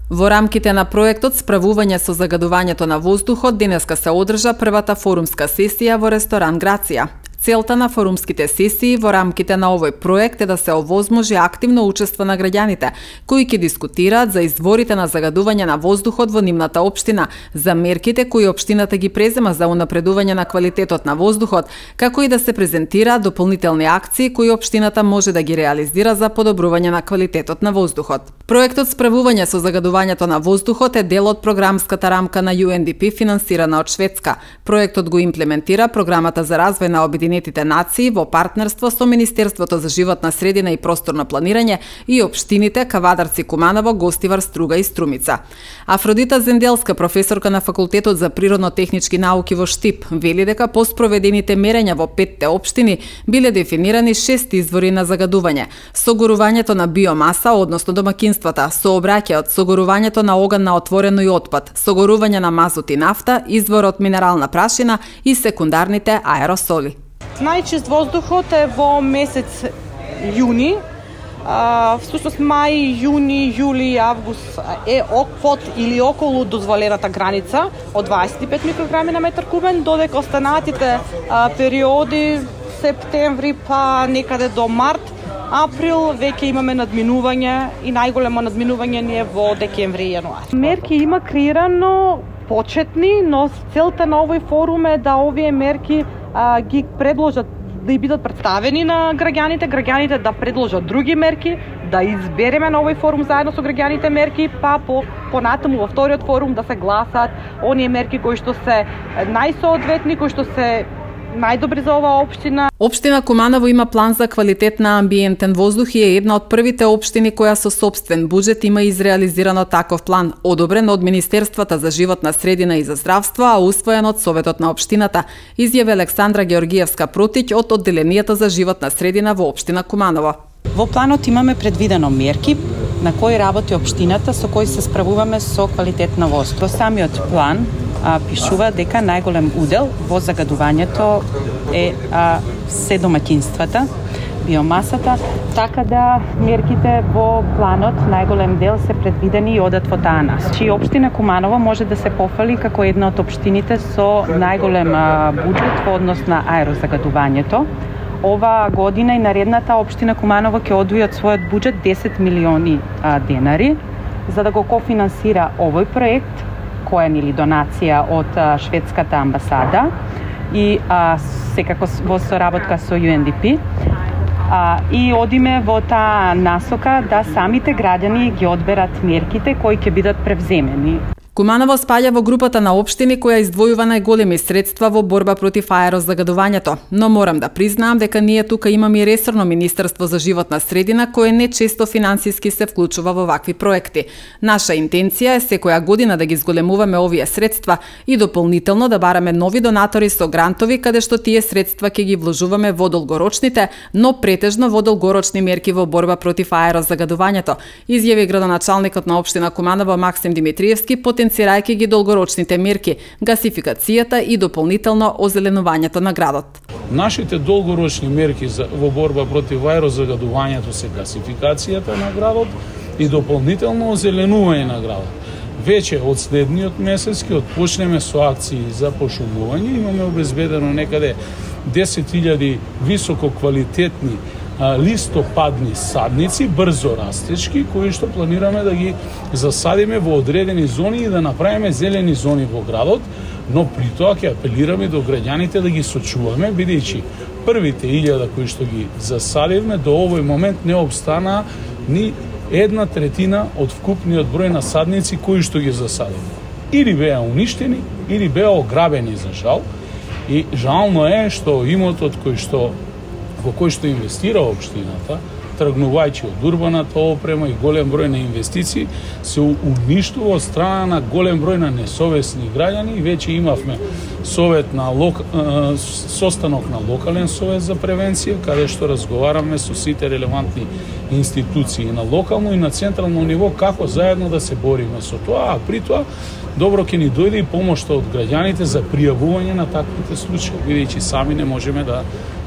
Во рамките на проектот Справување со загадувањето на воздухот денеска се одржа првата форумска сесија во ресторан Грација. Целта на форумските сесии во рамките на овој проект е да се овозможи активно учество на граѓаните, кои ќе дискутираат за изворите на загадување на воздухот во нивната општина, за мерките кои општината ги презема за унапредување на квалитетот на воздухот, како и да се презентираат дополнителни акции кои општината може да ги реализира за подобрување на квалитетот на воздухот. Проектот Справување со загадувањето на воздухот е дел од програмската рамка на UNDP финансирана од Шведска. Проектот го имплементира програмата за развој на Обединетите нации во партнерство со Министерството за животна средина и просторно планирање и општините Кавадарци, Куманово, Гостивар, Струга и Струмица. Афродита Зенделска, професорка на Факултетот за природно-технички науки во Штип, вели дека по спроведените мерења во 5 општини биле дефинирани 6 извори на загадување: согорувањето на биомаса, односно домакинствата, сообраќајот, согорувањето на оган на отворено и отпад, согорување на мазут и нафта, изворот минерална прашина и секундарните аеросоли. Најчист воздухот е во месец јуни. Всушност мај, јуни, јули, август е под или околу дозволената граница од 25 микрограми на метар кубен, додека останатите периоди септември па некаде до март, април веќе имаме надминување и најголемо надминување ни е во декември и јануари. Мерки има креирано почетни, но целта на овој форум е да овие мерки ги предложат, да и бидат представени на граѓаните да предложат други мерки, да избереме на овој форум заедно со граѓаните мерки, па понатаму во вториот форум да се гласат оние мерки кои што се најсоодветни, кои што се најдобри за оваа општина. Општина Куманово има план за квалитет на амбиентен воздух и е една од првите општини која со сопствен буџет има изреализирано таков план, одобрен од Министерствата за животна средина и за здравство, а усвоен од Советот на општината, изјави Александра Георгиевска Протиќ од Одделенијата за животна средина во општина Куманово. Во планот имаме предвидено мерки на кои работи општината со кои се справуваме со квалитет на воздух. Во самиот план пишува дека најголем удел во загадувањето е се домаќинствата, биомасата, така да мерките во планот најголем дел се предвидени и одат во таа нас. Чи општина Куманово може да се пофали како една од општините со најголем буџет во однос на аерозагадувањето. Ова година и наредната општина Куманово ќе одвои од својот буџет 10 милиони денари за да го кофинансира овој проект, коен или донација од шведската амбасада и секако во соработка со UNDP. И одиме во таа насока да самите граѓани ги одберат мерките кои ќе бидат превземени. Куманово спаѓа во групата на општини која издвојува најголеми средства во борба против аерозагадувањето, но морам да признаам дека ние тука имаме и ресорно Министерство за животна средина кое не често финансиски се вклучува во вакви проекти. Наша интенција е секоја година да ги зголемуваме овие средства и дополнително да бараме нови донатори со грантови каде што тие средства ќе ги вложуваме во долгорочните, но претежно во долгорочни мерки во борба против аерозагадувањето, изјави градоначалникот на општина Куманово Максим Димитриевски, потенцирајќи ги долгорочните мерки, гасификацијата и дополнително озеленувањето на градот. Нашите долгорочни мерки во борба против аерозагадувањето се гасификацијата на градот и дополнително озеленување на градот. Веќе од следниот месец ќе отпочнеме со акции за пошумување. Имаме обезбедено некаде 10.000 високо квалитетни листопадни садници, брзо растечки, кои што планираме да ги засадиме во одредени зони и да направиме зелени зони во градот, но при тоа ќе апелираме до граѓаните да ги сочуваме, бидејќи првите 1000 кои што ги засадивме до овој момент не обстана ни 1/3 од вкупниот број на садници кои што ги засадивме. Или беа уништени, или беа ограбени за жал. И жално е што имотот во кој што инвестира општината, тргнувајќи од урбаната опрема и голем број на инвестиции, се уништува од страна на голем број на несовесни граѓани. Веќе имавме состанок на локален совет за превенција, каде што разговараме со сите релевантни институции на локално и на централно ниво како заедно да се бориме со тоа, а при тоа добро ќе ни дојде и помошта од граѓаните за пријавување на таквите случаи, бидејќи сами не можеме да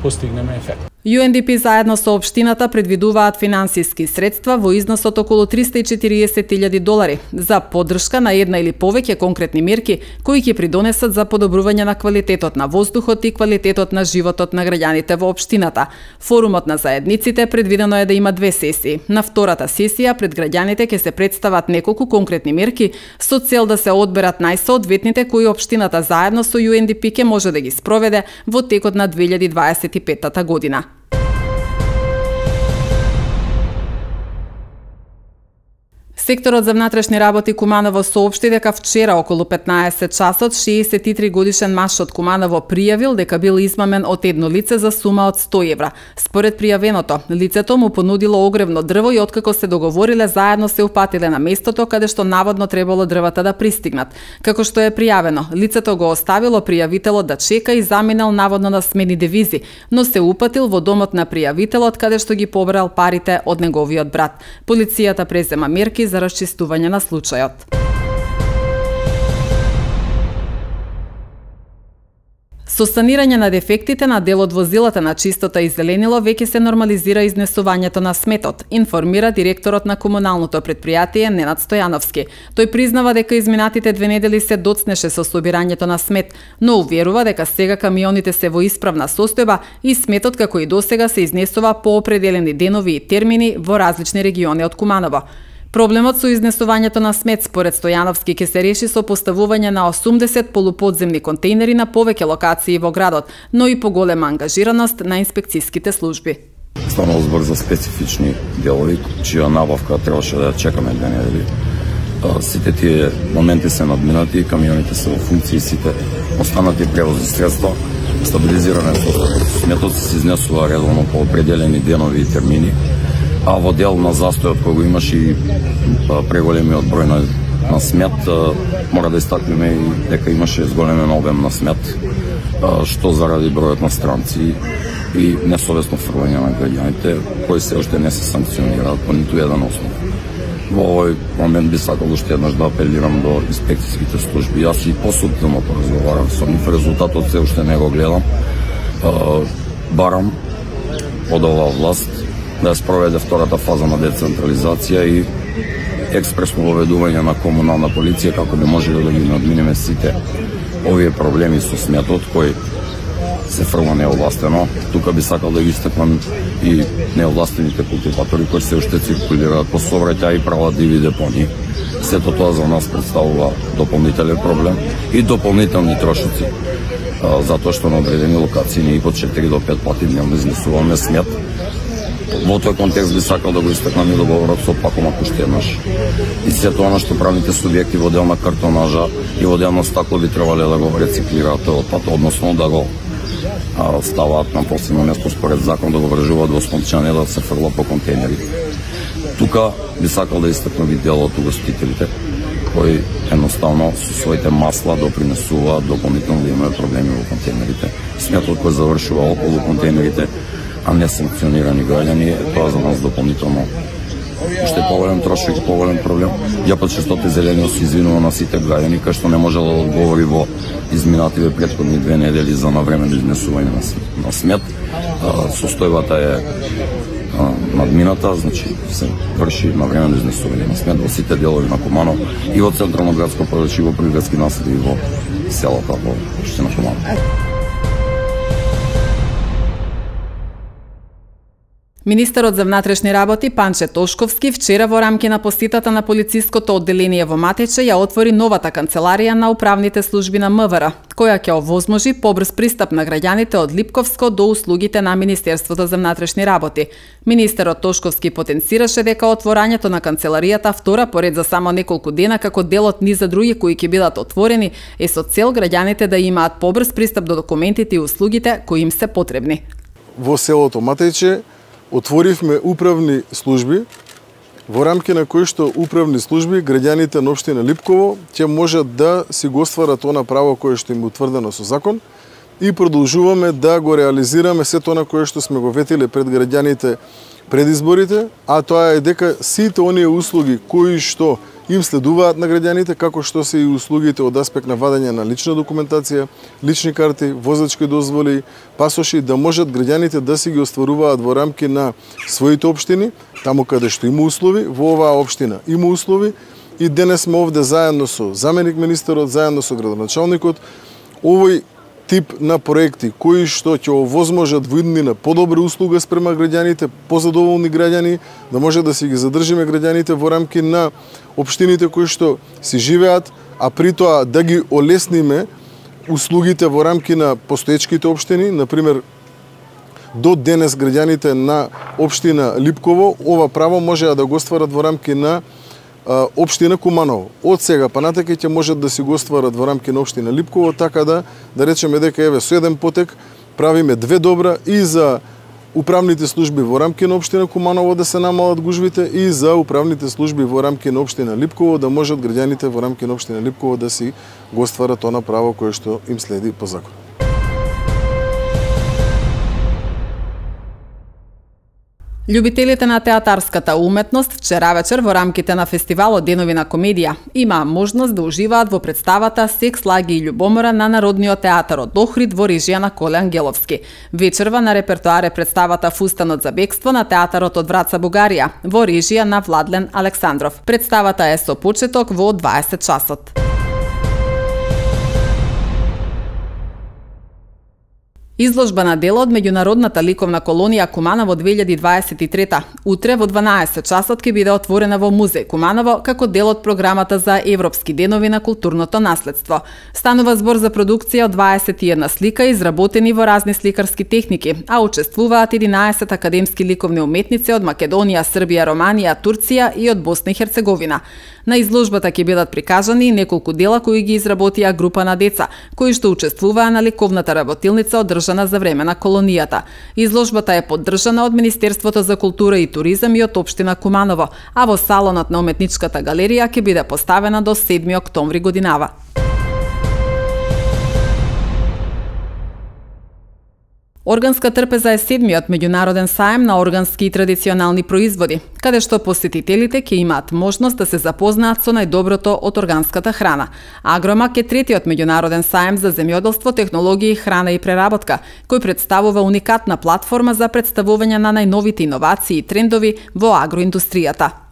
постигнеме ефект. UNDP заедно со општината предвидуваат финансиски средства во износ од околу $340,000 за поддршка на една или повеќе конкретни мерки кои ќе придонесат за подобрување на квалитетот на воздухот и квалитетот на животот на граѓаните во општината. Форумот на заедниците предвидено е да има 2 сесии. На втората сесија пред граѓаните ќе се представат неколку конкретни мерки со цел да се одберат најсоодветните кои општината заедно со UNDP ќе може да ги спроведе во текот на 2025 година. Секторот за внатрешни работи Куманово соопшти дека вчера околу 15 часот 63 годишен маж од Куманово пријавил дека бил измамен од едно лице за сума од 100 евра. Според пријавеното, лицето му понудило огревно дрво и откако се договориле, заедно се упатиле на местото каде што наводно требало дрвата да пристигнат. Како што е пријавено, лицето го оставило пријавителот да чека и заминал наводно на смени девизи, но се упатил во домот на пријавителот каде што ги побрал парите од неговиот брат. Полицијата презема мерки за расчистување на случајот. Со санирање на дефектите на дел од возилата на чистота и зеленило веќе се нормализира изнесувањето на сметот, информира директорот на комуналното предпријатие Ненад Стојановски. Тој признава дека изминатите 2 недели се доцнеше со собирањето на смет, но уверува дека сега камионите се во исправна состојба и сметот како и досега се изнесува по определени денови и термини во различни региони од Куманово. Проблемот со изнесувањето на смет според Стојановски ќе се реши со поставување на 80 полуподземни контейнери на повеќе локации во градот, но и поголема ангажираност на инспекциските служби. Станало збор за специфични делови, чија набавка требаше да чекаме 2 недели. Сите тие моменти се надминати, камионите се во функции, сите останати превозни средства, стабилизиране со сметот се изнесува редовно по определени денови и термини. А во дел на застојот кој го имаше и преголемиот број на смет, мора да истакнеме и дека имаше зголемен обем на смет, што заради бројот на странци и несовесно фрлање на граѓаните, кои се уште не се санкционираат по ниту еден основ. Во овој момент би сакал уште еднаш да апелирам до инспекцијските служби. Јас и посудно поразговарам со нив, резултатот се уште не го гледам. Барам од оваа власт да спроведе втората фаза на децентрализација и експресно воведување на комунална полиција како би можело да ги надминеме сите овие проблеми со сметот кој се фрла неовластено. Тука би сакал да ги истакнам и неовластените култиватори кои се уште циркулираат по сообраќај и прават диви депони. Сето тоа за нас представува дополнителен проблем и дополнителни трошоци, затоа што на одредени локации ние по 4 до 5 пати дневно изнесуваме смет. Во тој контекст би сакал да го истакнам и договорот со Пакомак уште еднаш. И сето она што правните субјекти во дел на картонажа и во дел на стакло би требале да го рециклираат тој отпад, односно да го ставаат на последно место според закон, да го вржуваат во спончане, да се фрла по контейнерите. Тука би сакал да истакнам и дел од угостителите кои едноставно со своите масла допринесуваат дополнително да имаме проблеми во контейнерите. Сметот кој завршува околу контейнерите, а не санкционирани граѓани, тоа за нас дополнително уште поголем трошок и поголем проблем. Јапот честоте зелениот се извинува на сите граѓани кај што не можело да одговори во изминативе претходни 2 недели за навремено изнесување на смет. Состојбата е надмината, значи се врши навремено изнесување на смет во сите делови на Куманово и во централно градско подруčje, и во приградски насели, и во селата во општина Куманово. Министерот за внатрешни работи Панче Тошковски вчера во рамки на посетата на полициското одделение во Матече ја отвори новата канцеларија на управните служби на МВР, која ќе овозможи побрз пристап на граѓаните од Липковско до услугите на Министерството за внатрешни работи. Министерот Тошковски потенцираше дека отворањето на канцеларијата, втора поред за само неколку дена како дел од низ за други кои ќе бидат отворени, е со цел граѓаните да имаат побрз пристап до документите и услугите кои им се потребни. Во селото Матече отворивме управни служби, во рамки на кои што управни служби граѓаните на општина Липково ќе можат да си го остварат она право кое што им е утврдено со закон и продолжуваме да го реализираме сето на кое што сме го ветиле пред граѓаните пред изборите, а тоа е дека сите оние услуги кои што им следуваат на граѓаните, како што се и услугите од аспект на вадење на лична документација, лични карти, возачки дозволи, пасоши, да можат граѓаните да си ги остваруваат во рамки на своите општини, таму каде што има услови, во оваа општина има услови, и денес сме овде заедно со заменик министерот, заедно со градоначалникот, овој тип на проекти кои што ќе овозможат во иднина подобра услуга спрема граѓаните, позадоволни граѓани, да може да си ги задржиме граѓаните во рамки на општините кои што си живеат, а при тоа да ги олесниме услугите во рамки на постоечките општини. Например, до денес граѓаните на општина Липково ова право можеа да го остварат во рамки на општина Куманово. Од сега па натака ќе можат да си го остварат во рамки на општина Липково, така да речеме дека еве со еден потек правиме две добра и за управните служби во рамки на општина Куманово да се намалат гужвите и за управните служби во рамки на општина Липково да можат граѓаните во рамки на општина Липково да си го остварат она право кое што им следи по закон. Љубителите на театарската уметност вчера вечер во рамките на фестивалот Денови на комедија имаа можност да уживаат во представата Секс, лаги и љубомора на Народниот театар од Охрид во режија на Коле Ангеловски. Вечерва на репертоар е представата Фустанот за бегство на театарот од Враца, Бугарија, во режија на Владлен Александров. Представата е со почеток во 20 часот. Изложба на дела од меѓународната ликовна колонија Куманово 2023. Утре во 12 часот ќе биде отворена во Музеј Куманово како дел од програмата за Европски денови на културното наследство. Станува збор за продукција од 21 слика изработени во разни сликарски техники, а учествуваат 11 академски ликовни уметници од Македонија, Србија, Романија, Турција и од Босна и Херцеговина. На изложбата ќе бидат прикажани и неколку дела кои ги изработија група на деца, кои што учествуваа на ликовната работилница одржана за време на колонијата. Изложбата е поддржана од Министерството за култура и туризам и од општина Куманово, а во салонот на уметничката галерија ќе биде поставена до 7 октомври годинава. Органска трпеза е 7-миот меѓународен саем на органски и традиционални производи, каде што посетителите ќе имаат можност да се запознаат со најдоброто од органската храна. Агромак е 3-тиот меѓународен саем за земјоделство, технологии, храна и преработка, кој представува уникатна платформа за представување на најновите иновации и трендови во агроиндустријата.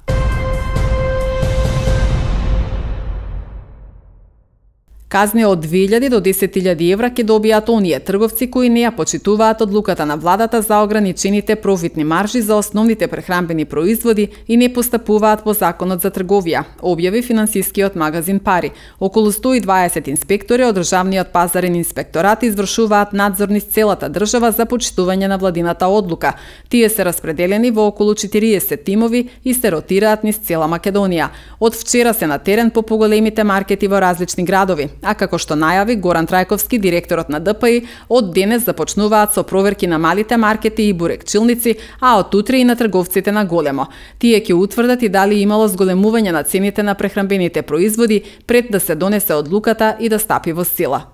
Казни од 2000 до 10.000 евра ќе добијат оние трговци кои не ја почитуваат одлуката на владата за ограничените профитни маржи за основните прехранбени производи и не постапуваат по законот за трговија, објави финансискиот магазин Пари. Околу 120 инспектори од Државниот пазарен инспекторат извршуваат надзор низ целата држава за почитување на владината одлука. Тие се распределени во околу 40 тимови и се ротираат низ цела Македонија. Од вчера се на терен по поголемите маркети во различни градови. А како што најави Горан Трајковски, директорот на ДПИ, од денес започнуваат со проверки на малите маркети и бурекчилници, а од утре и на трговците на големо. Тие ќе утврдат и дали имало зголемување на цените на прехранбените производи пред да се донесе одлуката и да стапи во сила.